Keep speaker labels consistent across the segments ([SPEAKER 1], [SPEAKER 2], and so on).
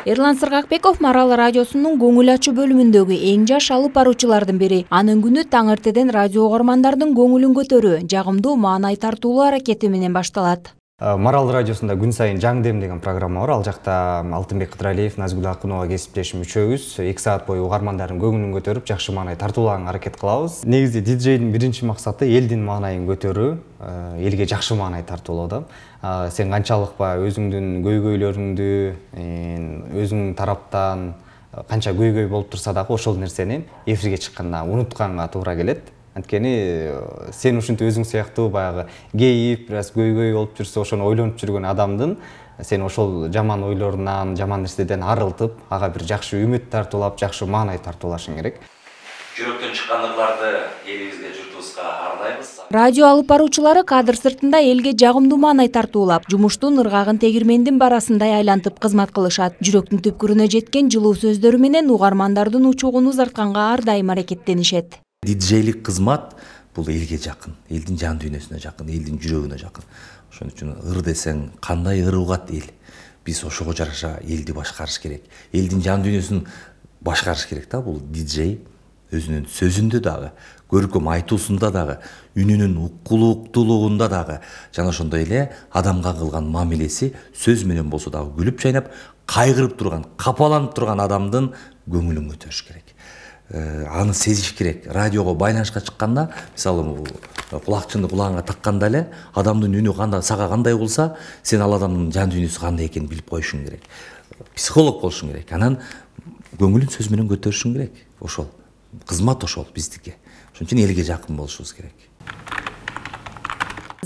[SPEAKER 1] Эрлан Сыргакбеков Марал радиосунун көңүл ачуу бөлүмүндөгү эң жаш алып баруучулардын бири. Анын күнү таң эртеден радио угармандардын көңүлүн көтөрүү, жагымдуу маанай тартуулуу аракети менен башталат.
[SPEAKER 2] Марал радиосунда күн сайын Жаң дем деген программа бар. Ал жакта Алтынбек Кыдыралиев, Назгүл Акунова кесиптешим үчөөбүз 2 саат бою угармандардын көңүлүн көтөрүп, жакшы маанай тартуулаганга аракет кылабыз. Негизи диджейдин биринчи максаты элдин маанайын көтөрүү, элге жакшы маанай тартуулоо да. Сен канчалык өзүңдүн көйгөйлөрүңдү, өзүң тараптан канча көйгөй болуп турса дагы ошол нерсени эфирге чыкканда унутканга туура келет. Анткени сен ушинтип өзүң сыяктуу баягы кейип, бир аз көйгөй болуп жүрсө, ошону ойлонуп жүргөн адамдын сен ошол жаман ойлорунан, жаман нерседен арылтып, ага бир жакшы үмүт тартуулап, жакшы маанай тартуулашың керек.
[SPEAKER 3] Жүрөктөн чыккан ырларды элибизге, журтубузга арнайбыз.
[SPEAKER 1] Радио алып баруучулары кадр сыртында элге жагымдуу маанай тартуулап, жумуштун ыргагын тегирмендин барасындай айлантып кызмат кылышат. Жүрөктүн түпкүрүнө жеткен жылуу сөздөрү менен угармандардын учугун узартканга ар дайым аракеттенишет.
[SPEAKER 4] Диджейлик кызмат бул элге жакын, элдин жан дүйнөсүнө жакын, элдин жүрөгүнө жакын. Ошон үчүн ыр десең, кандай ыр угат эл? Биз ошого жараша элди башкарыш керек. Элдин жан дүйнөсүн башкарыш керек да. Бул диджей өзүнүн сөзүндө дагы, көркөм айтуусунда дагы, үнүнүн уккулуктуулугунда дагы, жана ошондой эле адамга кылган мамилеси сөз менен болсо дагы күлүп чайнап, кайгырып турган, капаланып турган адамдын көңүлүн көтөрүш керек. Аны сезиш керек. Радиого байланышка чыкканда, мисалы кулакчынды кулагыңа такканда эле адамдын үнү кандай, сага кандай болса, сен ал адамдын жан дүйнөсү кандай экенин билип коюшуң керек. Психолог болушуң керек. Анан көңүлүн сөз менен көтөрүшүң керек. Ошол кызмат, ошол биздики. Ошон үчүн элге жакын болушубуз керек.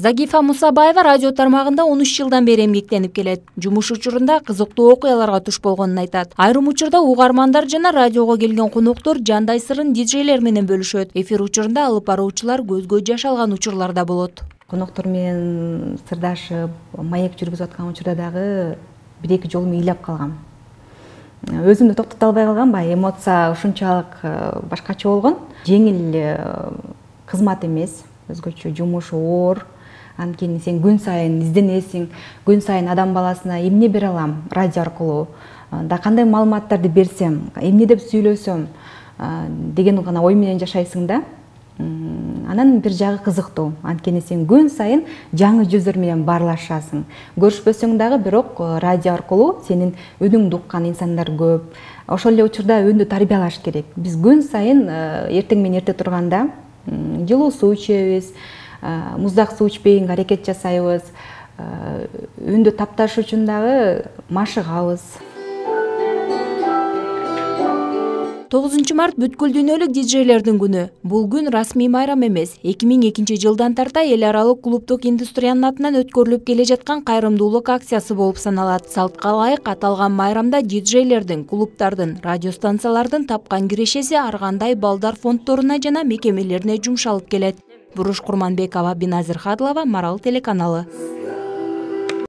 [SPEAKER 1] Загифа Мусабаева радио тармагында 13 жылдан бери эмгектенип келет. Жумуш учурунда кызыктуу окуяларга туш болгонун айтат. Айрым учурда угармандар жана радиого келген коноктор жандай сырын диджейлер менен бөлүшөт. Эфир учурунда алып баруучулар көзгө жаш алган учурлар да болот.
[SPEAKER 5] Коноктор менен сырдашып, маек жүргүзүп аткан учурда дагы 1-2 жолу ыйлап калгам. Өзүмдү токтото албай калгам, эмоция ушунчалык башкача болгон. Жеңил кызмат эмес, өзгөчө жумуш оор. Анткени сен күн сайын изденесиң, күн сайын адам баласына эмне бере алам радио аркылуу, да кандай маалыматтарды берсем, эмне деп сүйлөсөм деген гана ой менен жашайсың да. Анан бир жагы кызыктуу. Анткени сен күн сайын жаңы жүздөр менен баарлашасың. Көрүшпөсөң дагы, бирок радио аркылуу сенин үнүңдү уккан инсандар көп. Ошол эле учурда үндү тарбиялаш керек. Биз күн сайын эртең менен эрте турганда жылуу суу ичебиз, муздак суу ичпегенге аракет жасайбыз. Үндү тапташ үчүн дагы машыгабыз.
[SPEAKER 1] 9 март бүткүл дүйнөлүк диджейлердин күнү. Бул күн расмий майрам эмес. 2002 жылдан тарта эл аралык клубдук индустриянын атынан өткөрүлүп келе жаткан кайрымдуулук акциясы болуп саналат. Салтка ылайык аталган майрамда диджейлердин, клубдардын, радио станциялардын тапкан кирешеси ар кандай балдар фонддоруна жана мекемелерине жумшалып келет. Буруш Курманбекова, Биназир Хадлова, Марал телеканалы.